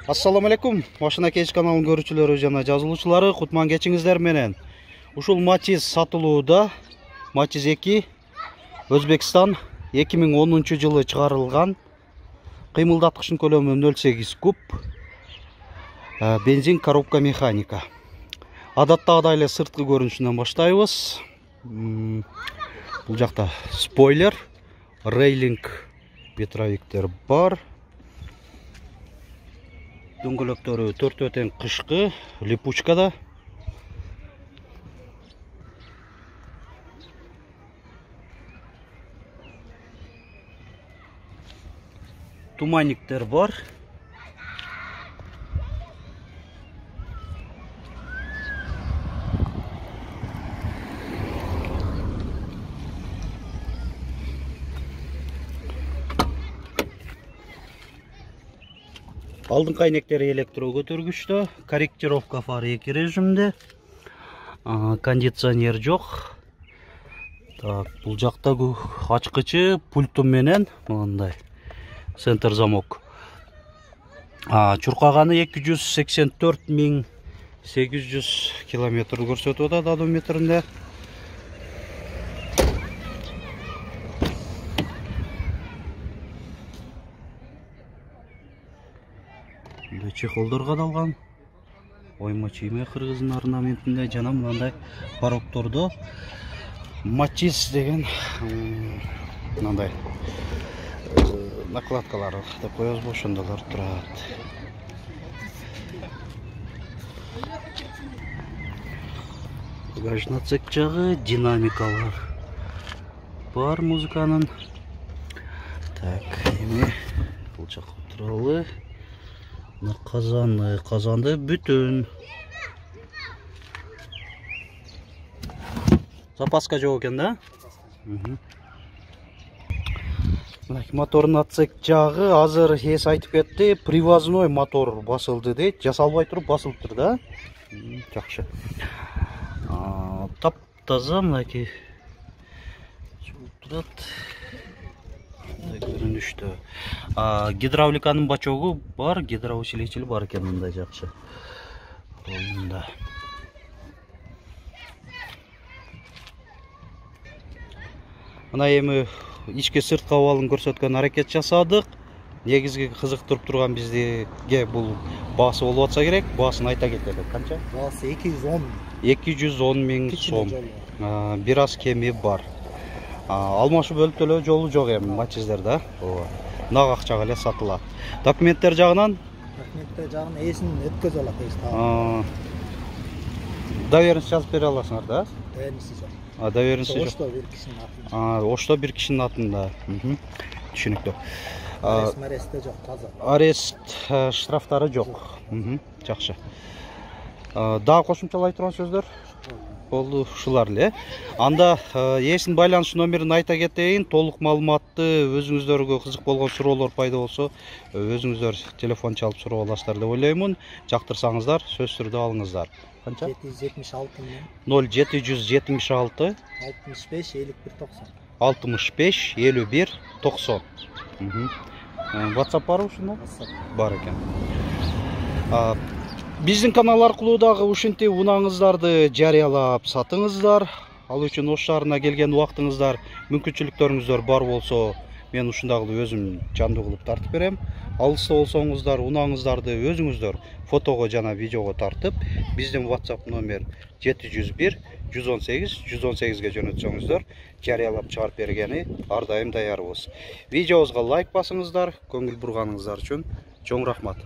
Assalamu alaikum. Машина кеч каналынын көрүүчүлөрү жана жазылуучулары, кутман кечиңиздер менен. Ушул Matiz сатылууда. Matiz 2 Өзбекстан 2010-жылы чыгарылган. Кыймылдаткычтын көлөмү 0,8 куб. Бензин коробка механика. Адаттагыдай эле сырткы көрүнүшүнөн баштайбыз. Бул жакта спойлер, рейлинг, ветровиктер бар. Дөңгөлөктөрү 4 тең кышкы, липучкада. Туманниктер бар. Алдыңкы айнектери электро көтөргүчтө, корректировка фары 2 режимде. Кондиционер жок. Так, бул жакта ачкычы пульту менен мындай центр замок. Чуркаганы 284.800 километр көрсөтүп атат одометринде. Чехолдор кадалган. Ойма чийме кыргыздын орнаментинде жана мындай бароктордо Matiz деген мындай накладкалар деп коебузбу, ошондолор турат. Багажный отсек жагы, динамикалар бар музыканын. Так, эми бул жакка туралы. Казанды бүтүн. Запаска жок экен да? Мотордун отсек жагы азыр эс айтып кетти. Привозной мотор басылды дейт. Жасалбай туруп басылыптыр да? Жакшы. Таптаза мынакей турат. Көрүнүштө. Гидравликанын бачогу бар, гидроусилитель бар экен мындай жакшы. Мында. Мына эми ички сырткы абалын көрсөткөн аракет жасадык. Негизги кызыктырып турган бизге бул баасы болуп атса керек. Баасын айта кетели. Канча? Баасы 210. 210 миң сом. Бир аз кеми бар. Алмашып өлтөлөө жолу жок эми Matiz'дерде. Нак акчага эле сатылат. Документтер жагынан? Документтер жагын эсин өткөзө алат. Доверенность жазып бере аласыңар да? Доверенность жок. Доверенность жок. Ошто бир кишинин атында. Ошто бир кишинин атында. Түшүнүктүү. Аресте жок, таза. Арест штрафтары жок. Жакшы. Дагы кошумчалай турган сөздөр? Болду ушулар эле. Анда эсин байланыш номерин айта кетейин. Толук маалыматты өзүңүздөргө кызык болгон суроолор пайда болсо, өзүңүздөр телефон чалып суроо аласыздар деп ойлоймун. Жактырсаңыздар, сөз түрдө алыңыздар. Канча? 776 0776 65 51 90. 65 51 90. WhatsApp барбы ушунда? Бар экен. Биздин канал аркылуу дагы ушинтип унаңыздарды жарыялап сатыңыздар. Ал үчүн Ош шаарына келген убактыңыздар, мүмкүнчүлүктөрүңүздөр бар болсо, мен ушундагы өзүм жандуу кылып тартып берем. Алыста болсоңуздар, унаңыздарды өзүңүздөр фотого жана видеого тартып, биздин WhatsApp номер 701 118 118ге жөнөтсөңүздөр, жарыялап чыгарып бергени ар дайым даярбыз. Видеобузга лайк басыңыздар, көңүл бурганыңыздар үчүн чоң рахмат.